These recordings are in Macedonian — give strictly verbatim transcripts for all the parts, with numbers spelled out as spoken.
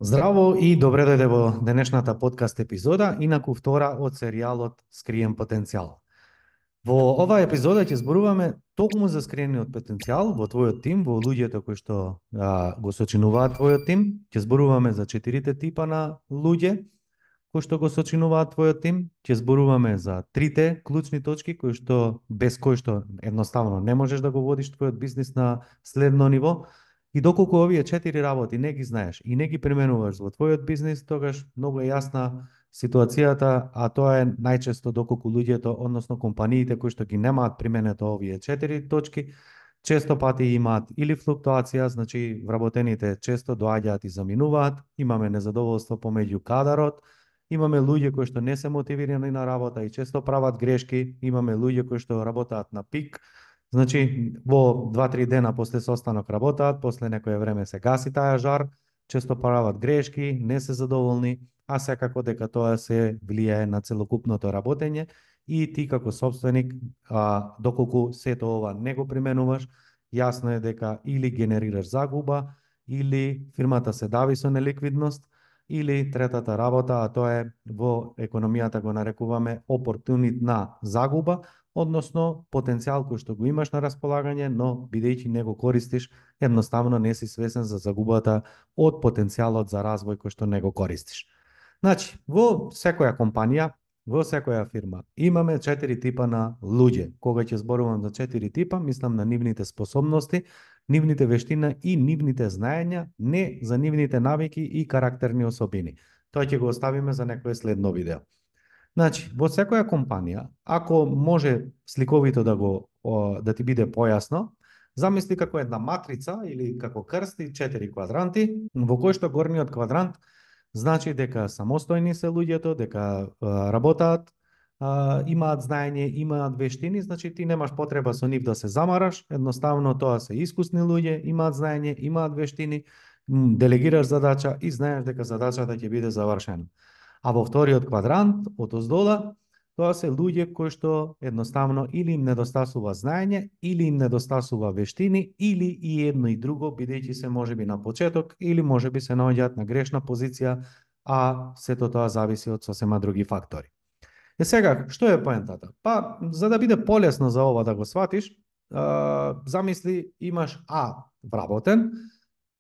Здраво и добре дојде во денешната подкаст епизода, инаку втора од серијалот Скриен потенцијал. Во оваа епизода ќе зборуваме токму за скриениот потенцијал во твојот тим, во луѓето кои што а, го сочинуваат твојот тим. Ќе зборуваме за четирите типа на луѓе кои што го сочинуваат твојот тим. Ќе зборуваме за трите клучни точки кои што без кои што едноставно не можеш да го водиш твојот бизнис на следно ниво. И доколку овие четири работи не ги знаеш и не ги применуваш во твојот бизнис, тогаш многу е јасна ситуацијата, а тоа е најчесто доколку луѓето, односно компаниите кои што ги немаат применето овие четири точки, често пати имаат или флуктуација, значи вработените често доаѓаат и заминуваат, имаме незадоволство помеѓу кадарот, имаме луѓе кои што не се мотивирани на работа и често прават грешки, имаме луѓе кои што работаат на пик. Значи, во два-три дена после состанок работаат, после некое време се гаси таа жар, често прават грешки, не се задоволни, а секако дека тоа се влијае на целокупното работење и ти како собственик, а, доколку сето ова не го применуваш, јасно е дека или генерираш загуба, или фирмата се дави со неликвидност, или третата работа, а тоа е во економијата го нарекуваме опортунитна загуба, односно потенцијал кој што го имаш на располагање, но бидејќи не го користиш, едноставно не си свесен за загубата од потенцијалот за развој кој што не го користиш. Значи, во секоја компанија, во секоја фирма, имаме четири типа на луѓе. Кога ќе зборувам за четири типа, мислам на нивните способности, нивните вештина и нивните знаења, не за нивните навики и карактерни особини. Тоа ќе го оставиме за некое следно видео. Значи, во секоја компанија, ако може сликовито да го да ти биде појасно, замисли како една матрица или како крсти, четири квадранти, во кој што горниот квадрант значи дека самостојни се луѓето, дека а, работаат, а, имаат знаење, имаат вештини, значи ти немаш потреба со нив да се замараш, едноставно тоа се искусни луѓе, имаат знаење, имаат вештини, делегираш задача и знаеш дека задачата ќе биде завршена. А во вториот квадрант, од оздола, тоа се луѓе кои што едноставно или им недостасува знаење, или им недостасува вештини, или и едно и друго, бидејќи се можеби на почеток, или можеби се наоѓаат на грешна позиција, а сето тоа зависи од сосема други фактори. Е сега, што е поентата? Па, за да биде полесно за ова да го сватиш, замисли имаш А вработен,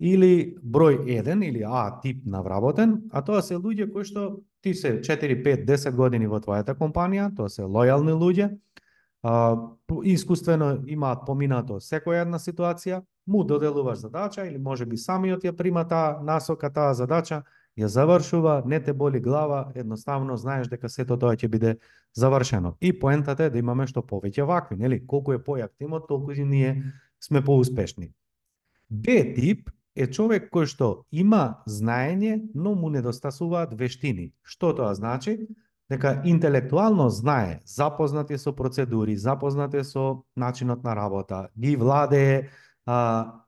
или број еден, или А тип на вработен, а тоа се луѓе кои што ти се четири, пет, десет години во твојата компанија, тоа се лојални луѓе, а, искуствено имаат поминато секоја една ситуација, му доделуваш задача или можеби самиот ја прима таа насока, таа задача, ја завршува, не те боли глава, едноставно знаеш дека сето тоа ќе биде завршено. И поентата е да имаме што повеќе вакви, нели? Колку е појак тимот, толку и ние сме поуспешни. Б тип е човек кој што има знаење, но му недостасуваат вештини. Што тоа значи? Дека интелектуално знае, запознат е со процедури, запознат е со начинот на работа, ги владее, а,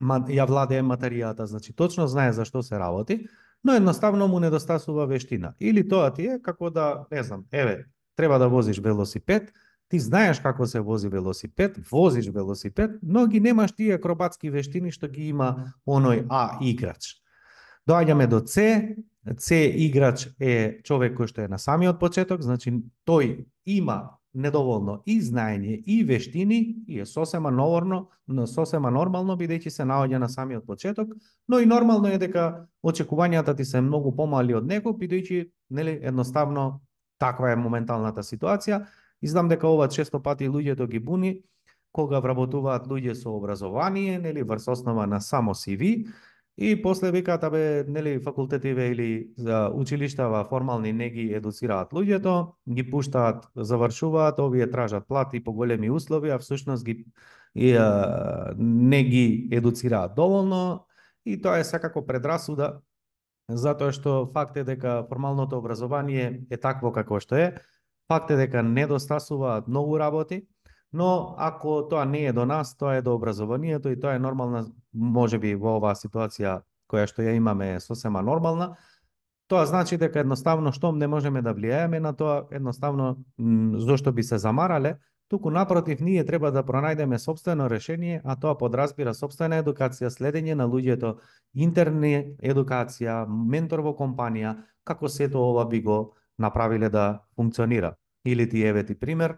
ја владее материјата, значи точно знае за што се работи, но едноставно му недостасува вештина. Или тоа ти е како да, не знам, еве, треба да возиш велосипед, ти знаеш како се вози велосипед, возиш велосипед, но ги немаш тие акробатски вештини што ги има оној А играч. Доаѓаме до С. С играч е човек кој што е на самиот почеток, значи тој има недоволно и знаење и вештини и е сосема нормално, сосема нормално бидејќи се наоѓа на самиот почеток, но и нормално е дека очекувањата ти се многу помали од него бидејќи нели едноставно таква е моменталната ситуација. И знам дека ова често пати луѓето ги буни кога вработуваат луѓе со образование, нели врз основа на само Си Ви, и после викаат абе нели факултетиве или за училиштава формални не ги едуцираат луѓето, ги пуштаат, завршуваат, овие тражат плати и поголеми услови, а всушност ги и, а, не ги едуцираат доволно, и тоа е секако предрасуда, затоа што факт е дека формалното образование е такво како што е. Факт е дека недостасуваат многу работи, но ако тоа не е до нас, тоа е до образованието и тоа е нормална, можеби во оваа ситуација која што ја имаме е сосема нормална. Тоа значи дека едноставно штом не можеме да влијаеме на тоа, едноставно зошто би се замарале, туку напротив, ние треба да пронајдеме сопствено решение, а тоа подразбира сопствена едукација, следење на луѓето, интерна едукација, ментор во компанија, како сето ова би го направиле да функционира. Или ти еве ти пример,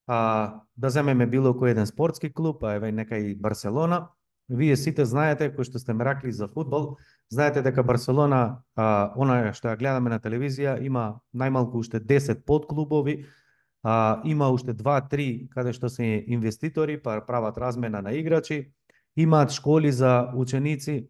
а, да земеме било кој еден спортски клуб, а еве нека и Барселона. Вие сите знаете, кои што сте меракли за фудбал, знаете дека Барселона, а, она што ја гледаме на телевизија, има најмалку уште десет подклубови, а, има уште два-три каде што се инвеститори, па прават размена на играчи, имаат школи за ученици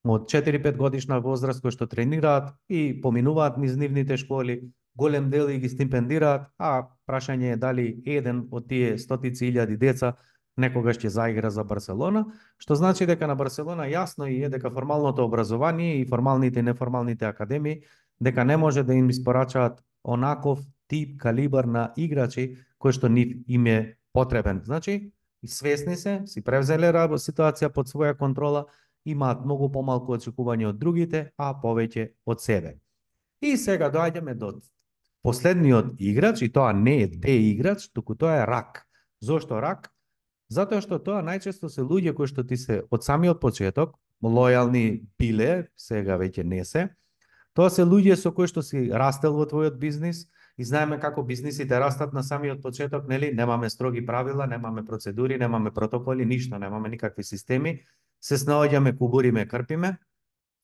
од четири-пет годишна возраст кои што тренираат и поминуваат низ нивните школи, голем дел и ги стипендираат, а прашање е дали еден од тие стотици илјади деца некогаш ќе заигра за Барселона, што значи дека на Барселона јасно и е дека формалното образование и формалните и неформалните академии дека не може да им испорачаат онаков тип калибар на играчи кој што нив им е потребен. Значи, свесни се, си превзеле ситуација под своја контрола, имаат многу помалку очекување од другите, а повеќе од себе. И сега доаѓаме до последниот играч, и тоа не е Д играч, туку тоа е рак. Зошто рак? Затоа што тоа најчесто се луѓе кои што ти се од самиот почеток, лојални биле, сега веќе не се. Тоа се луѓе со кои што си растел во твојот бизнис и знаеме како бизнисите растат на самиот почеток, нели? Немаме строги правила, немаме процедури, немаме протоколи, ништо, немаме никакви системи. Се снаоѓаме, кубуриме, крпиме.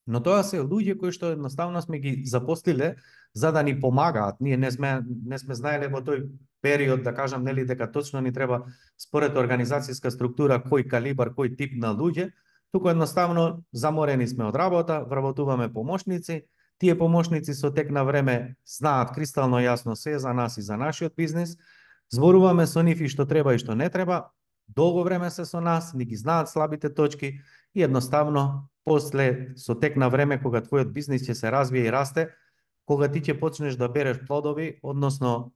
Но тоа се луѓе кои што едноставно сме ги запослиле за да ни помагаат. Ние не сме не сме знаеле во тој период, да кажам, нели, дека точно ни треба според организацијска структура кој калибар, кој тип на луѓе, туку едноставно заморени сме од работа, вработуваме помошници. Тие помошници со тек на време знаат кристално јасно се за нас и за нашиот бизнис. Зборуваме со нив и што треба и што не треба. Долго време се со нас, ни ги знаат слабите точки и едноставно после со тек на време кога твојот бизнис ќе се развие и расте, кога ти ќе почнеш да береш плодови, односно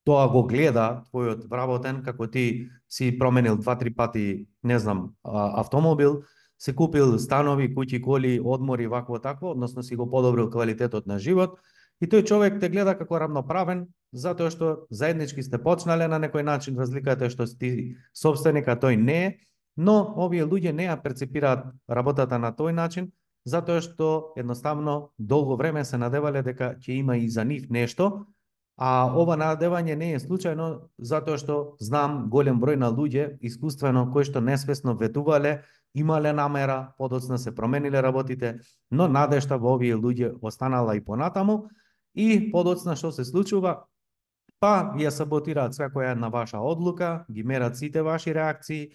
тоа го гледа твојот вработен, како ти си променил два-три пати, не знам, автомобил, се купил станови, куќи, коли, одмори, вакво такво, односно си го подобрил квалитетот на живот, и тој човек те гледа како равноправен, затоа што заеднички сте почнале на некој начин, разликата е што ти собственик, а тој не е, но овие луѓе не ја перцепираат работата на тој начин, затоа што едноставно долго време се надевале дека ќе има и за нив нешто, а ова надевање не е случајно, затоа што знам голем број на луѓе искуствено кои што несвесно ветувале, имале намера, подоцна се промениле работите, но надежта во овие луѓе останала и понатаму, и подоцна што се случува? Па ја саботираат секоја една ваша одлука, ги мерат сите ваши реакции.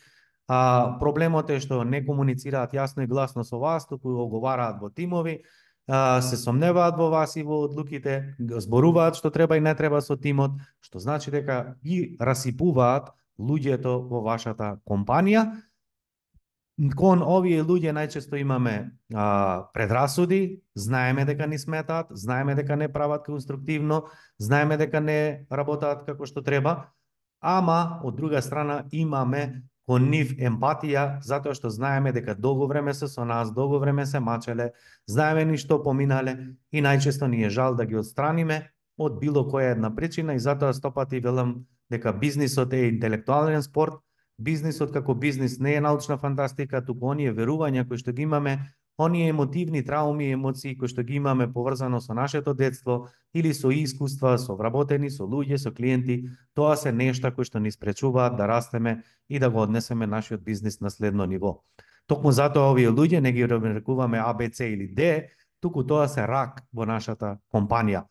А, проблемот е што не комуницираат јасно и гласно со вас, туку оговараат во тимови, а, се сомневаат во вас и во одлуките, зборуваат што треба и не треба со тимот, што значи дека ги расипуваат луѓето во вашата компанија. Кон овие луѓе најчесто имаме а, предрасуди, знаеме дека ни сметаат, знаеме дека не прават конструктивно, знаеме дека не работаат како што треба, ама од друга страна имаме кон нив емпатија, затоа што знаеме дека долго време се со нас, долго време се мачеле, знаеме ни што поминале и најчесто ни е жал да ги отстраниме од било која една причина, и затоа стопати велам дека бизнисот е интелектуален спорт. Бизнисот како бизнис не е научна фантастика, туку оние верувања кои што ги имаме, оние емотивни трауми и емоции кои што ги имаме поврзано со нашето детство или со искуства, со вработени, со луѓе, со клиенти, тоа се нешта кои што ни спречуваат да растеме и да го однесеме нашиот бизнис на следно ниво. Токму затоа овие луѓе не ги рекуваме А, Б, С или Д, туку тоа се рак во нашата компанија.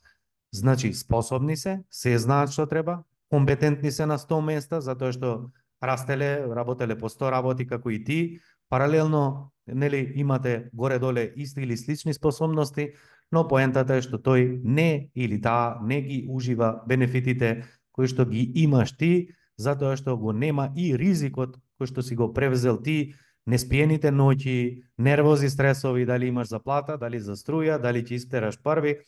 Значи, способни се, се знаат што треба, компетентни се на сто места, затоа што растеле, работеле по сто работи како и ти, паралелно, нели, имате горе-доле исти или слични способности, но поентата е што тој не или таа не ги ужива бенефитите кои што ги имаш ти, затоа што го нема и ризикот кој што си го превзел ти, неспиените ноќи, нервози, стресови, дали имаш заплата, дали за струја, дали ќе испераш први,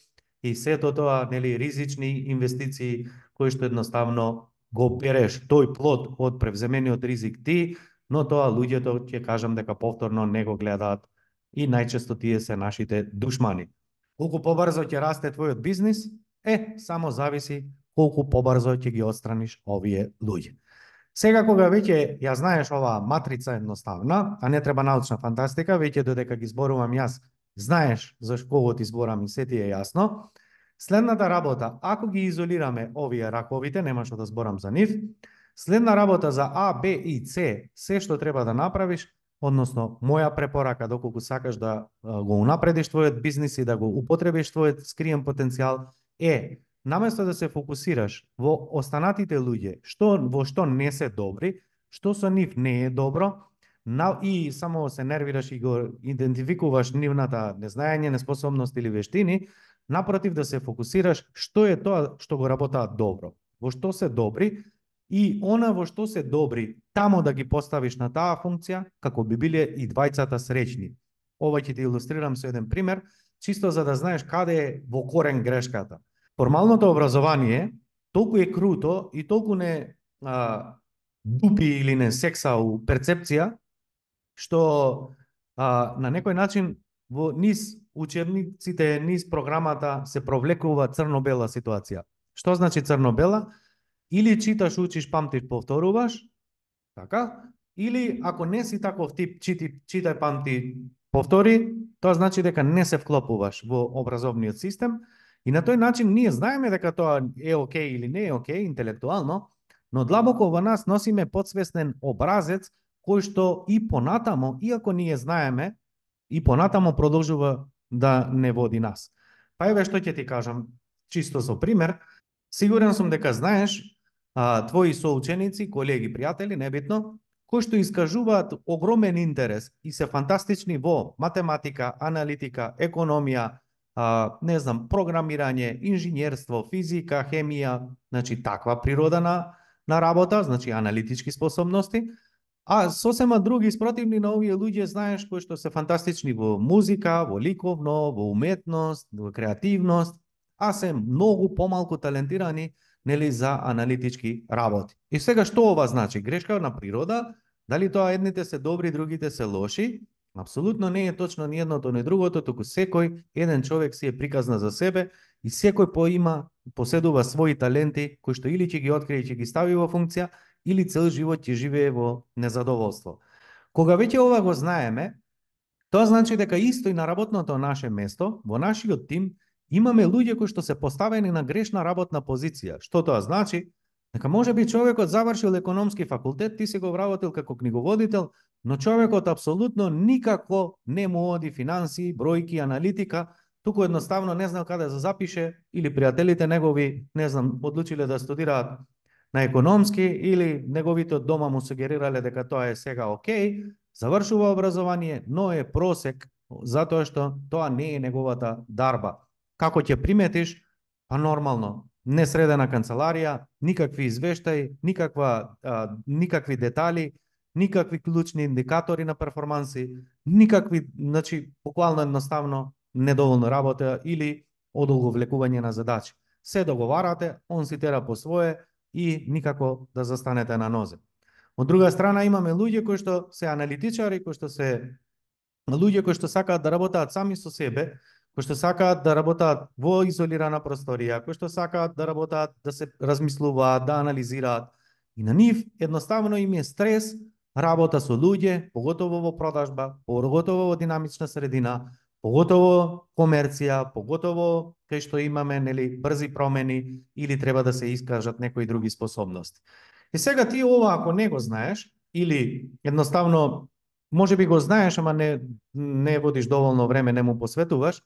и сето тоа, нели, ризични инвестиции кои што едноставно го береш тој плод од превземениот ризик ти, но тоа луѓето, ќе кажам дека повторно не го гледаат и најчесто тие се нашите душмани. Колку побрзо ќе расте твојот бизнис, е, само зависи колку побрзо ќе ги отстраниш овие луѓе. Сега кога веќе ја знаеш оваа матрица едноставна, а не треба научна фантастика, веќе додека ги зборувам јас, знаеш за кого ти зборам и се ти е јасно. Следната работа, ако ги изолираме овие раковите, нема што да зборам за нив, следна работа за А, Б и С, се што треба да направиш, односно моја препорака доколку сакаш да го унапредиш твојот бизнис и да го употребиш твојот скриен потенцијал е, наместо да се фокусираш во останатите луѓе, што во што не се добри, што со нив не е добро, на, и само се нервираш и го идентификуваш нивната незнаење, неспособност или вештини, напротив да се фокусираш што е тоа што го работаат добро, во што се добри и она во што се добри, тамо да ги поставиш на таа функција, како би биле и двајцата среќни. Ова ќе ти илустрирам со еден пример, чисто за да знаеш каде е во корен грешката. Формалното образование толку е круто и толку не а, дупи или не секса у перцепција, што а, на некој начин во низ учебниците, низ програмата се провлекува црно-бела ситуација. Што значи црно-бела? Или читаш, учиш, памтиш, повторуваш, така? Или ако не си таков тип, чити, читај, памти, повтори, тоа значи дека не се вклопуваш во образовниот систем и на тој начин ние знаеме дека тоа е окей или не е окей интелектуално, но длабоко во нас носиме подсвестен образец кој што и понатамо, иако ние знаеме, и понатамо продолжува да не води нас. Па еве што ќе ти кажам, чисто со пример, сигурен сум дека знаеш а, твои соученици, колеги, пријатели, небитно, кои што искажуваат огромен интерес и се фантастични во математика, аналитика, економија, а, не знам, програмирање, инженерство, физика, хемија, значи таква природа на, на работа, значи аналитички способности, а сосема други спротивни на овие луѓе, знаеш, кои што се фантастични во музика, во ликовно, во уметност, во креативност, а се многу помалку талентирани, нели, за аналитички работи. И сега што ова значи? Грешка на природа? Дали тоа едните се добри, другите се лоши? Апсолутно не е точно ни едното ни другото, туку секој еден човек си е приказна за себе и секој поима, поседува свои таленти кои што или ќе ги открие и ќе ги стави во функција, или цел живот ќе живее во незадоволство. Кога веќе ова го знаеме, тоа значи дека исто и на работното наше место, во нашиот тим, имаме луѓе кои што се поставени на грешна работна позиција. Што тоа значи? Дека може би човекот завршил економски факултет, ти си го вработил како книговодител, но човекот апсолутно никако не му оди финансии, бројки, аналитика, туку едноставно не знал каде да запише, или пријателите негови, не знам, одлучиле да студираат на економски, или неговите од дома му сугерирале дека тоа е сега окей, завршува образование, но е просек, затоа што тоа не е неговата дарба. Како ќе приметиш? Па нормално, несредена канцеларија, никакви извештаи, никаква, а, никакви детали, никакви клучни индикатори на перформанси, никакви, значи, буквално едноставно недоволно работа или одолго влекување на задачи. Се договарате, он си тера по свое и никако да застанете на нозе. Од друга страна имаме луѓе кои што се аналитичари, кои што се луѓе кои што сакаат да работаат сами со себе, кои што сакаат да работаат во изолирана просторија, кои што сакаат да работаат, да се размислуваат, да анализираат. И на нив едноставно им е стрес работа со луѓе, поготово во продажба, поготово во динамична средина, поготово комерција, поготово кај што имаме, нели, брзи промени или треба да се искажат некои други способности. И сега ти ова ако не го знаеш или едноставно може би го знаеш, ама не не водиш доволно време, не му посветуваш,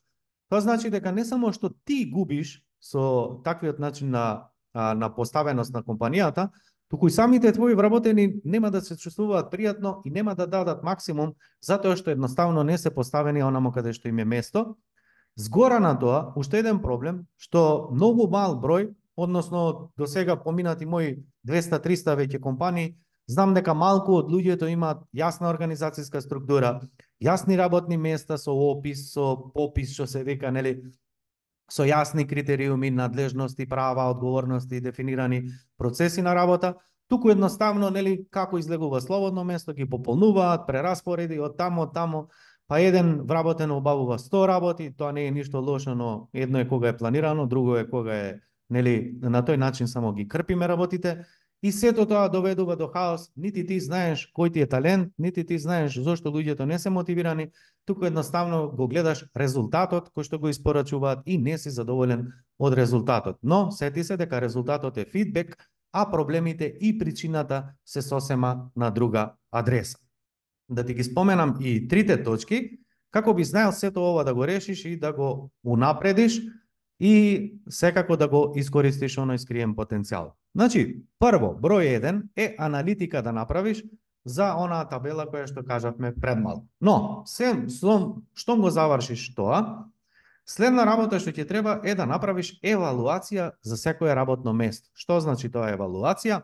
тоа значи дека не само што ти губиш со таквиот начин на на поставеност на компанијата, туку и самите твои вработени нема да се чувствуваат пријатно и нема да дадат максимум затоа што едноставно не се поставени онамо каде што им е место. Згора на тоа, уште еден проблем, што многу мал број, односно до сега поминати мои двеста триста веќе компании, знам дека малку од луѓето имаат јасна организацијска структура, јасни работни места со опис, со попис, што се вика, нели, со јасни критериуми, надлежности, права, одговорности, дефинирани процеси на работа, туку едноставно, нели, како излегува слободно место, ги пополнуваат, прераспореди од тамо, од тамо, па еден вработен обавува сто работи, тоа не е ништо лошо, но едно е кога е планирано, друго е кога е, нели, на тој начин само ги крпиме работите, И сето тоа доведува до хаос, нити ти знаеш кој ти е талент, нити ти знаеш зошто луѓето не се мотивирани, туку едноставно го гледаш резултатот кој што го испорачуваат и не си задоволен од резултатот. Но сети се дека резултатот е фидбек, а проблемите и причината се сосема на друга адреса. Да ти ги споменам и трите точки, како би знаел сето ова да го решиш и да го унапредиш и секако да го искористиш оној скриен потенцијал. Значи, прво, број еден е аналитика да направиш за онаа табела која што кажавме пред мал. Но, сем, штом го завршиш тоа, следна работа што ќе треба е да направиш евалуација за секое работно место. Што значи тоа евалуација?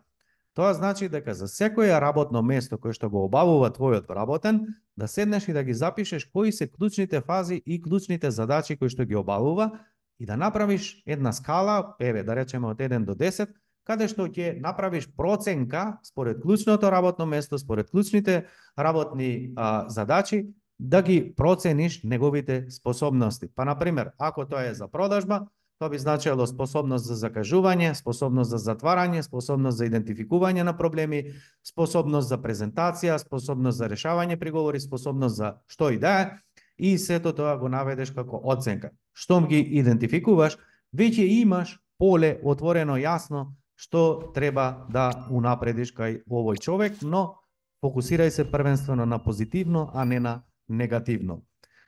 Тоа значи дека за секое работно место кое што го обавува твојот работен, да седнеш и да ги запишеш кои се клучните фази и клучните задачи кои што ги обавува и да направиш една скала, еве да речеме од еден до десет, каде што ќе направиш проценка според клучното работно место, според клучните работни а, задачи, да ги процениш неговите способности. Па, например, ако тоа е за продажба, тоа би значило способност за закажување, способност за затварање, способност за идентификување на проблеми, способност за презентација, способност за решавање приговори, способност за што и да е, и сето тоа го наведеш како оценка. Штом ги идентификуваш, веќе имаш поле отворено јасно што треба да унапредиш кај овој човек, но фокусирај се првенствено на позитивно, а не на негативно.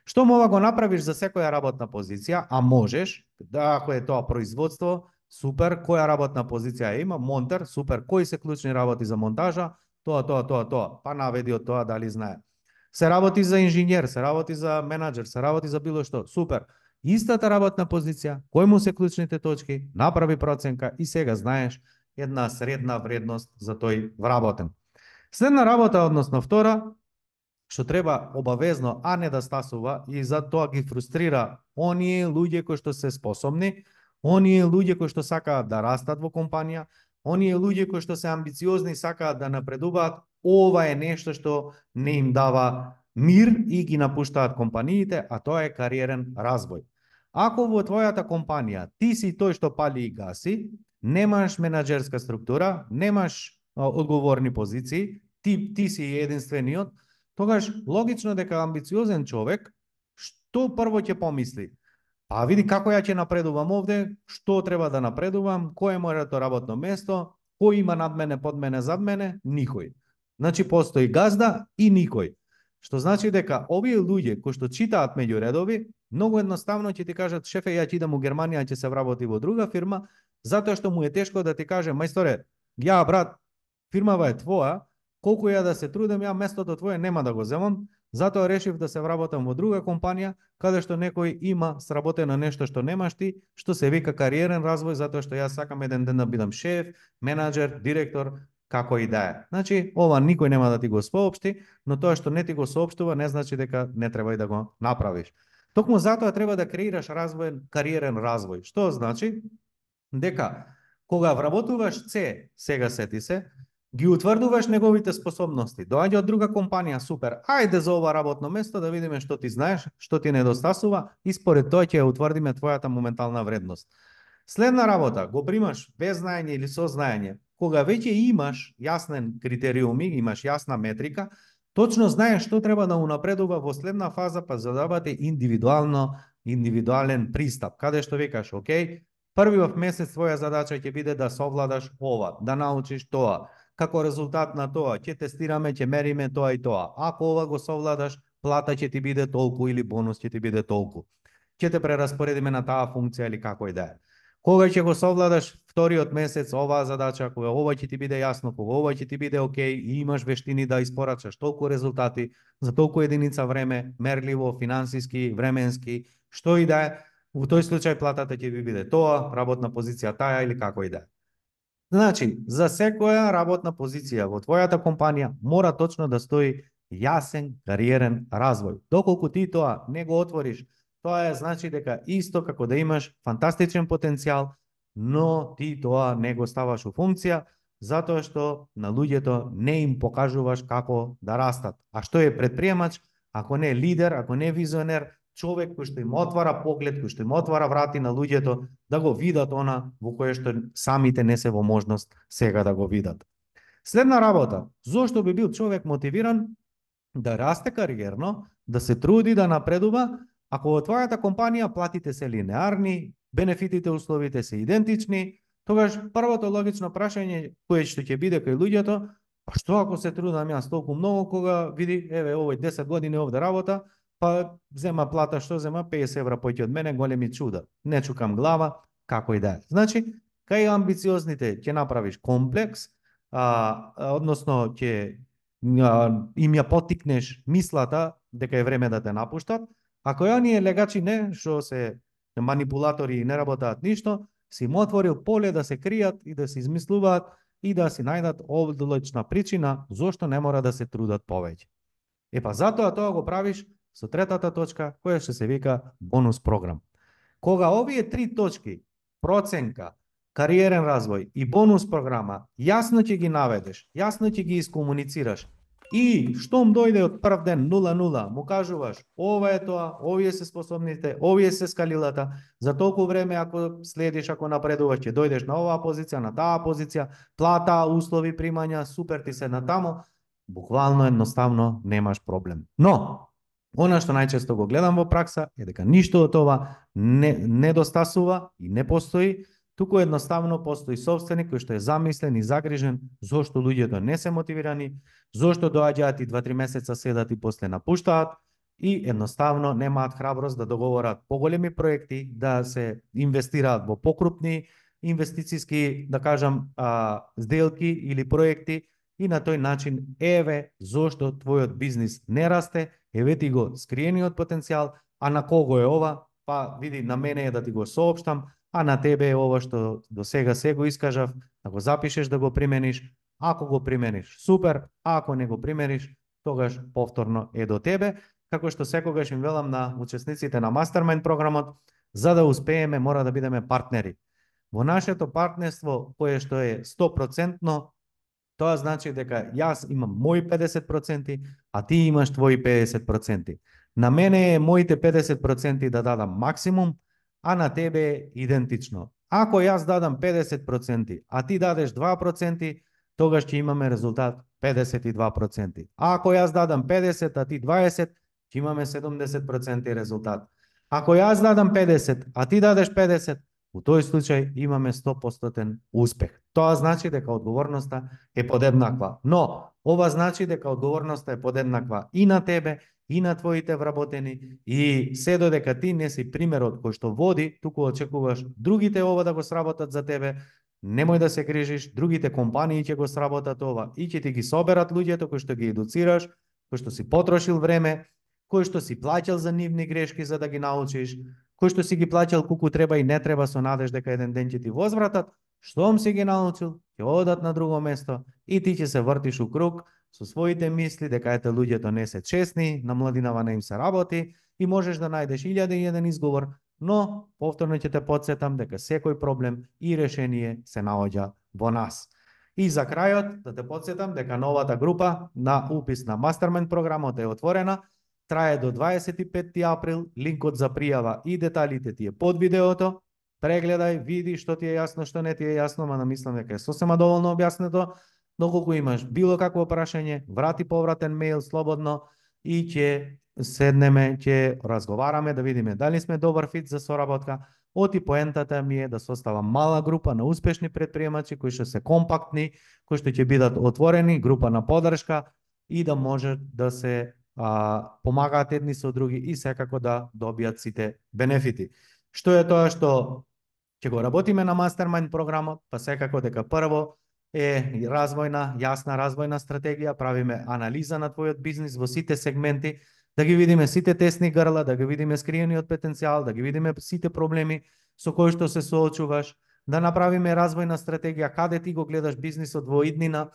Што мова го направиш за секоја работна позиција, а можеш, да, ако е тоа производство, супер, која работна позиција има, монтер, супер, кои се клучни работи за монтажа, тоа, тоа, тоа, тоа, па наведи од тоа дали знае. Се работи за инженер, се работи за менаџер, се работи за било што, супер. Истата работна позиција, кои му се клучните точки, направи проценка и сега знаеш една средна вредност за тој вработен. Следна работа, односно втора, што треба обавезно, а не да стасува, и за тоа ги фрустрира оние луѓе кои што се способни, оние луѓе кои што сакаат да растат во компанија, оние луѓе кои што се амбициозни и сакаат да напредуваат, ова е нешто што не им дава мир и ги напуштаат компаниите, а тоа е кариерен развој. Ако во твојата компанија ти си тој што пали и гаси, немаш менаџерска структура, немаш а, одговорни позиции, ти, ти си единствениот, тогаш логично дека амбициозен човек што прво ќе помисли? А види како ја ќе напредувам овде, што треба да напредувам, кој е моето работно место, кој има над мене, под мене, зад мене? Никој. Значи постои газда и никој. Што значи дека овие луѓе кои што читаат меѓу редови, многу едноставно ќе ти кажат: шефе, ја ќе идам у Германија, ќе се вработи во друга фирма, затоа што му е тешко да ти каже: мајсторе, ја брат, фирмава е твоја, колку ја да се трудам, ја местото твое нема да го земам, затоа решив да се вработам во друга компанија, каде што некој има сработено нешто што немаш ти, што се вика кариерен развој, затоа што јас сакам еден ден да бидам шеф, менаџер, директор, како и да е. Значи, ова никој нема да ти го соопшти, но тоа што не ти го соопштува не значи дека не треба и да го направиш. Токму затоа треба да креираш развоен, кариерен развој. Што значи? Дека кога вработуваш С, сега сети се, ги утврдуваш неговите способности. Доаѓа од друга компанија, супер. Ајде за ова работно место да видиме што ти знаеш, што ти недостасува и според тоа ќе утврдиме твојата моментална вредност. Следна работа, го примаш без знаење или со знаење. Кога веќе имаш јаснен критериуми, имаш јасна метрика, точно знаеш што треба да унапредува во следна фаза, па задавате индивидуално, индивидуален пристап, каде што викаш: окей, првиот месец твоја задача ќе биде да совладаш ова, да научиш тоа. Како резултат на тоа ќе тестираме, ќе мериме тоа и тоа. Ако ова го совладаш, плата ќе ти биде толку или бонус ќе ти биде толку. Ќе те прераспоредиме на таа функција или како и да е. Кога ќе го совладаш вториот месец оваа задача, кога ова ќе ти биде јасно, кога ова ќе ти биде окей и имаш вештини да испорачаш толку резултати за толку единица време, мерливо, финансиски, временски, што и да е, во тој случај платата ќе ви биде тоа, работна позиција таа или како и да е. Значи, за секоја работна позиција во твојата компанија мора точно да стои јасен кариерен развој. Доколку ти тоа не го отвориш, тоа е значи дека исто како да имаш фантастичен потенцијал, но ти тоа не го ставаш у функција, затоа што на луѓето не им покажуваш како да растат. А што е предприемач, ако не лидер, ако не визионер, човек кој што им отвара поглед, кој што им отвара врати на луѓето да го видат она во кое што самите не се во можност сега да го видат. Следна работа, зошто би бил човек мотивиран да расте кариерно, да се труди, да напредува, ако во твојата компанија платите се линеарни, бенефитите, условите се идентични, тогаш првото логично прашање кое што ќе биде кај луѓето, па што ако се трудам јас толку многу кога види, еве овој десет години овде работа, па зема плата што зема песет евра поќе од мене, големи чуда. Не чукам глава, како и да е. Значи, кај амбициозните ќе направиш комплекс, а, односно ќе им ја потикнеш мислата дека е време да те напуштат, ако ја оние легачи не, што се манипулатори и не работаат ништо, си им отворил поле да се кријат и да се измислуваат и да си најдат одлична причина зошто не мора да се трудат повеќе. Е па затоа тоа го правиш со третата точка, која што се вика бонус програм. Кога овие три точки, проценка, кариерен развој и бонус програма, јасно ќе ги наведеш, јасно ќе ги искомуницираш и штом дојде од прв ден нула нула, му кажуваш ова е тоа, овие се способните, овие се скалилата, за толку време ако следиш, ако напредуваш, ќе дојдеш на оваа позиција, на таа позиција, плата, услови, примања, супер ти се натамо, буквално едноставно немаш проблем. Но, она што најчесто го гледам во пракса е дека ништо од ова не недостасува и не постои, туку едноставно постои собственик кој што е замислен и загрижен зошто луѓето не се мотивирани, зошто доаѓаат и два-три месеца седат и после напуштаат и едноставно немаат храброст да договорат поголеми проекти, да се инвестираат во покрупни инвестициски, да кажам, а, сделки или проекти и на тој начин еве зошто твојот бизнис не расте, еве ти го скриениот потенцијал, а на кого е ова? Па види, на мене е да ти го соопштам, а на тебе е ова што до сега се го искажав, да го запишеш, да го примениш. Ако го примениш, супер, а ако не го примениш, тогаш повторно е до тебе. Како што секогаш им велам на учесниците на Mastermind програмот, за да успееме мора да бидеме партнери. Во нашето партнерство, кое што е сто процентно, тоа значи дека јас имам мои педесет проценти, а ти имаш твои педесет проценти. На мене е моите педесет проценти да дадам максимум, а на тебе е идентично. Ако јас дадам педесет проценти, а ти дадеш два проценти, тогаш ќе имаме резултат педесет и два проценти. А ако јас дадам педесет, а ти дваесет, ќе имаме седумдесет проценти резултат. Ако јас дадам педесет, а ти дадеш педесет, у тој случај имаме сто проценти успех. Тоа значи дека одговорноста е подеднаква. Но, ова значи дека одговорноста е подеднаква и на тебе, и на твоите вработени, и се додека ти не си примерот кој што води, туку очекуваш другите ова да го сработат за тебе, немој да се грижиш, другите компании ќе го сработат ова и ќе ти ги соберат луѓето кои што ги едуцираш, кои што си потрошил време, кои што си плаќал за нивни грешки за да ги научиш, кои што си ги плаќал колку треба и не треба со надеж дека еден ден ќе ти возвратат, штом си ги научил, ќе одат на друго место и ти ќе се вртиш у круг со своите мисли дека ете луѓето не се честни, на младинава не им се работи и можеш да најдеш илјада и еден изговор, но повторно ќе те потсетам дека секој проблем и решение се наоѓа во нас. И за крајот да те потсетам дека новата група на упис на Mastermind програмот е отворена, трае до дваесет и петти април, линкот за пријава и деталите ти е под видеото. Прегледај, види што ти е јасно, што не ти е јасно, ма намислам дека е сосема доволно објаснето. Доколку имаш било какво прашање, врати повратен мејл слободно и ќе седнеме, ќе разговараме да видиме дали сме добар фит за соработка. Оти поентата ми е да составам мала група на успешни претприемачи кои што се компактни, кои што ќе бидат отворени, група на поддршка и да може да се а, помагаат едни со други и секако да добијат сите бенефити. Што е тоа што ќе го работиме на Mastermind програмот? Па секако дека прво е развојна, јасна развојна стратегија, правиме анализа на твојот бизнис во сите сегменти, да ги видиме сите тесни грла, да ги видиме скриениот потенцијал, да ги видиме сите проблеми со кои што се соочуваш, да направиме развојна стратегија каде ти го гледаш бизнисот во иднина,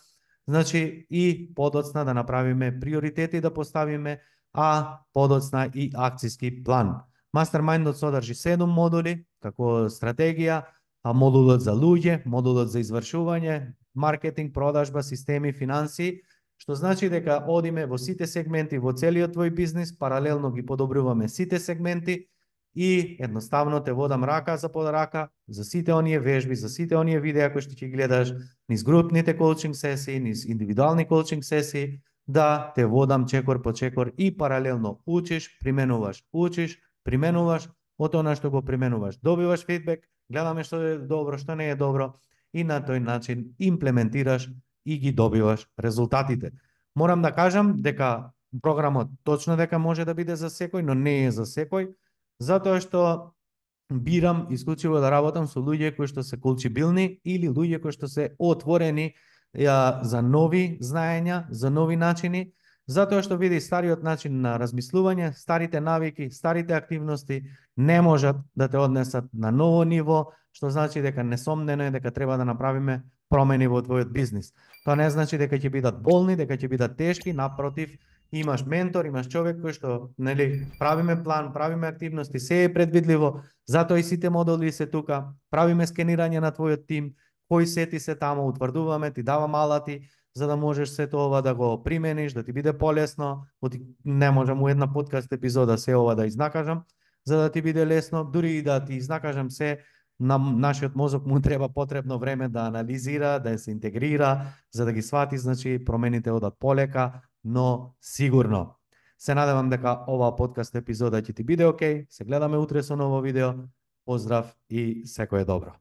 значи и подоцна да направиме приоритети да поставиме, а подоцна и акциски план. Mastermindот содржи седум модули, како стратегија, а модулот за луѓе, модулот за извршување, маркетинг, продажба, системи, финанси, што значи дека одиме во сите сегменти во целиот твој бизнис, паралелно ги подобруваме сите сегменти и едноставно те водам рака за под рака за сите оние вежби, за сите оние видеа кои што ќе гледаш, низ групните коучинг сесии, низ индивидуални коучинг сесии, да те водам чекор по чекор и паралелно учиш, применуваш, учиш, применуваш, од она што го применуваш, добиваш фидбек, гледаме што е добро, што не е добро и на тој начин имплементираш и ги добиваш резултатите. Морам да кажам дека програмот точно дека може да биде за секој, но не е за секој, затоа што бирам исклучиво да работам со луѓе кои што се колчибилни или луѓе кои што се отворени ја, за нови знаења, за нови начини, затоа што види стариот начин на размислување, старите навики, старите активности не можат да те однесат на ново ниво, што значи дека несомнено е дека треба да направиме промени во твојот бизнис. Тоа не значи дека ќе бидат болни, дека ќе бидат тешки, напротив, имаш ментор, имаш човек кој што, нели, правиме план, правиме активности, се е предвидливо, затоа и сите модули се тука, правиме скенирање на твојот тим, кои сети се тамо, утврдуваме, ти давам алати, за да можеш сето ова да го примениш, да ти биде полесно, не можам у една подкаст епизода се ова да изнакажам, за да ти биде лесно, дури и да ти изнакажам се, на нашиот мозок му треба потребно време да анализира, да се интегрира, за да ги свати, значи промените одат полека, но сигурно. Се надевам дека оваа подкаст епизода ќе ти биде окей, се гледаме утре со ново видео, поздрав и секое добро.